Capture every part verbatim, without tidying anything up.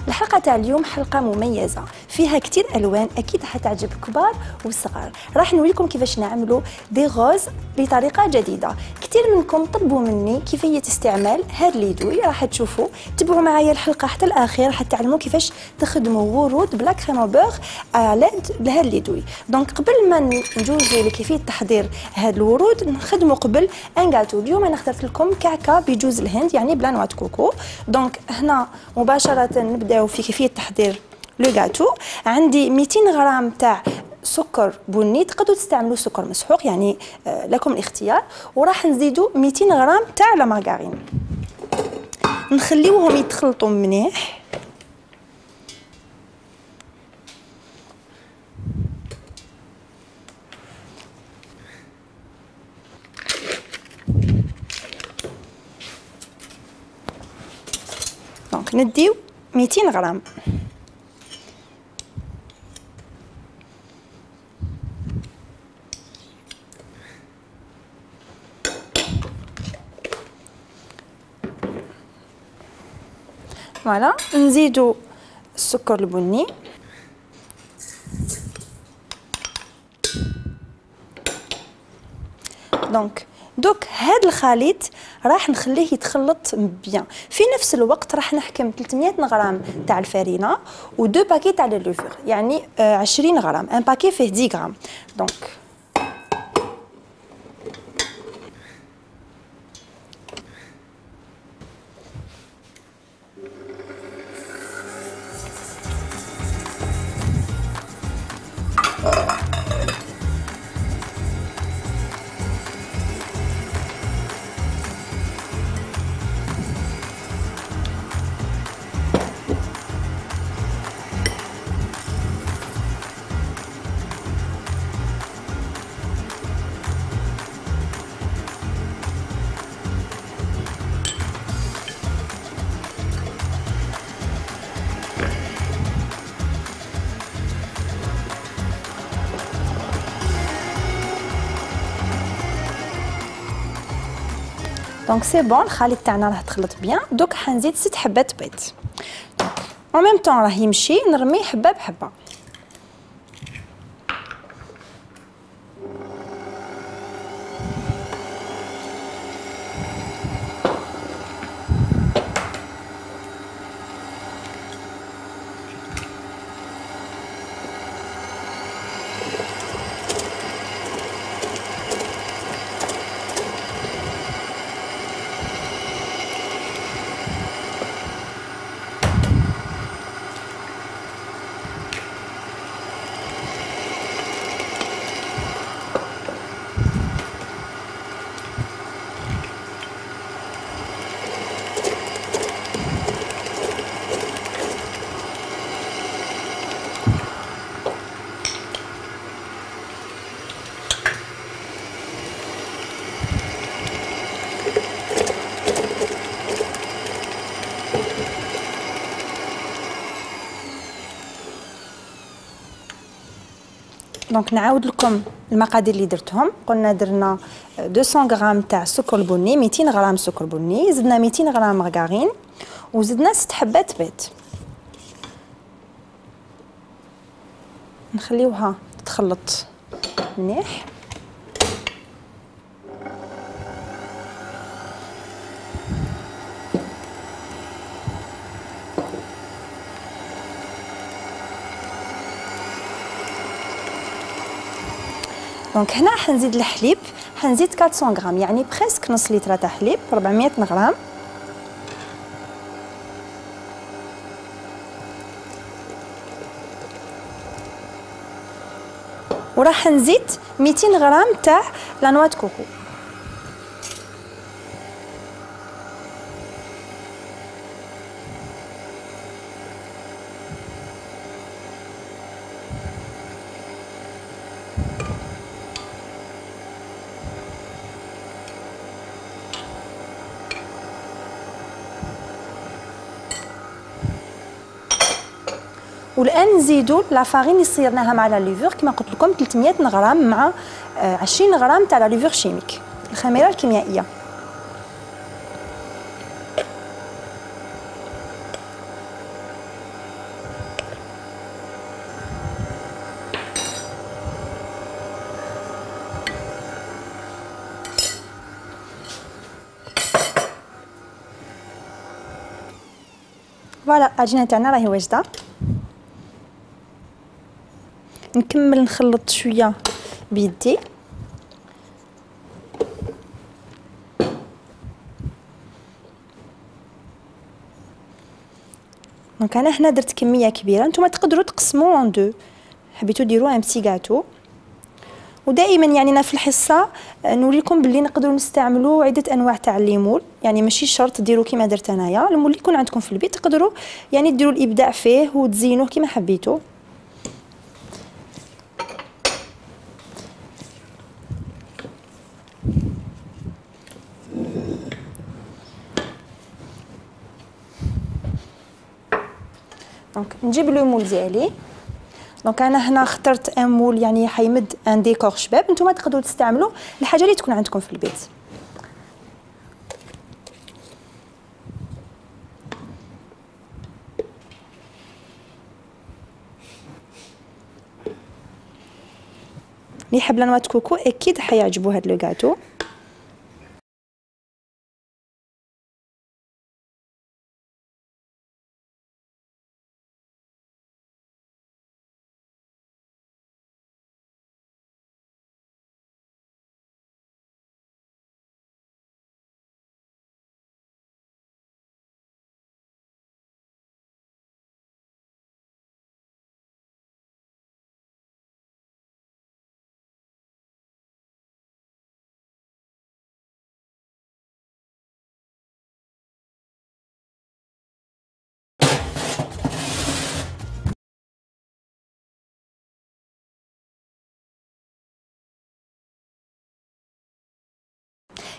الحلقه تاع اليوم حلقه مميزه فيها كتير الوان، اكيد حتعجب كبار وصغار. راح نوريكم كيفاش نعملوا دي غوز بطريقه جديده. كتير منكم طلبوا مني كيفيه استعمال هاد ليدوي، راح تشوفوا. تبعوا معايا الحلقه حتى الاخير حتعلموا كيفاش تخدموا ورود بلا كريم بوغ على هاد ليدوي. دونك قبل ما نجوزوا لكيفيه تحضير هاد الورود نخدموا قبل ان غاتو. اليوم انا اخترت لكم كعكه بجوز الهند يعني بلا نوع كوكو. دونك هنا مباشره نبداو في كيفيه تحضير لو غاتو. عندي مئتين غرام تاع سكر بني، تقدروا تستعملوا سكر مسحوق يعني آه لكم الاختيار. وراح نزيدوا مئتين غرام تاع لا مارغرين، نخليوهم يتخلطوا مليح. دونك نديو مئتين غرام. فوالا نزيدو السكر البني، دونك دوك هاد الخليط راح نخليه يتخلط بيان. في نفس الوقت راح نحكم ثلاثمئة غرام تاع الفرينه و دو باكي تاع اللوفور يعني عشرين غرام. ان باكي فيه عشرة غرام. دونك دونك سي بون. الخليط تاعنا راه تخلط بيان. دوك حنزيد ست حبات بيض. دونك اون ميم طون راه يمشي نرميه حبه بحبه. دونك نعاود لكم المقادير اللي درتهم. قلنا درنا مئتين غرام تاع السكر البني، مئتين غرام سكر بني، زدنا مئتين غرام مارغرين، وزدنا ست حبات بيض. نخليوها تخلط مليح. دونك هنا حنزيد الحليب، حنزيد أربعمئة غرام يعني بريسك نص لتر تاع حليب، أربعمئة غرام. وراح نزيد مئتين غرام تاع لا نوا دو كوكو. والان نزيدوا لا فارين اللي صيرناها مع لا ليفور كما قلت لكم ثلاثمئة غرام مع عشرين غرام تاع لا ليفور شيميك الخميره الكيميائيه. فوالا العجينه تاعنا راهي واجده. نكمل نخلط شويه بيدي. دونك انا هنا درت كميه كبيره، نتوما تقدروا تقسموا ان دو، حبيتو ديروا ان بتي غاتو. ودائما يعني انا في الحصه نوريكم باللي نقدروا نستعملوا عده انواع تاع الليمون، يعني ماشي شرط ديروا كيما درت انايا، المول اللي يكون عندكم في البيت تقدروا يعني ديروا الابداع فيه وتزينوه كيما حبيتوا. دونك نجيب لو مول ديالي. دونك انا هنا اخترت ان مول يعني حيمد ان ديكور شباب، نتوما تقدروا تستعملوا الحاجه اللي تكون عندكم في البيت. اللي يحب لانوات كوكو اكيد حيعجبو هاد لو غاتو.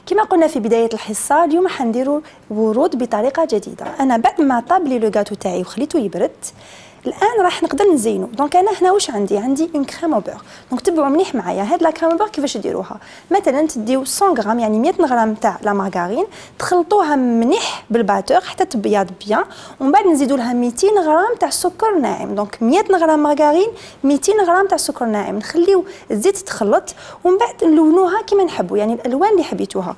كما قلنا في بدايه الحصه، اليوم حنديروا ورود بطريقه جديده. انا بعد ما طاب لي لو غاتو تاعي وخليته يبرد، الان راح نقدر نزينو. دونك انا هنا واش عندي عندي اون كريم او بور. دونك تبعوا مليح معايا هاد لا كريم او بور كيفاش ديروها. مثلا تديو مية غرام يعني مية غرام تاع لا مارغرين، تخلطوها مليح بالباتور حتى تبيض بيان، ومن بعد نزيدوا لها ميتين غرام تاع سكر ناعم. دونك مية غرام مارغرين، ميتين غرام تاع سكر ناعم، نخليو الزيت يتخلط ومن بعد نلونوها كيما نحبوا، يعني الالوان اللي حبيتوها.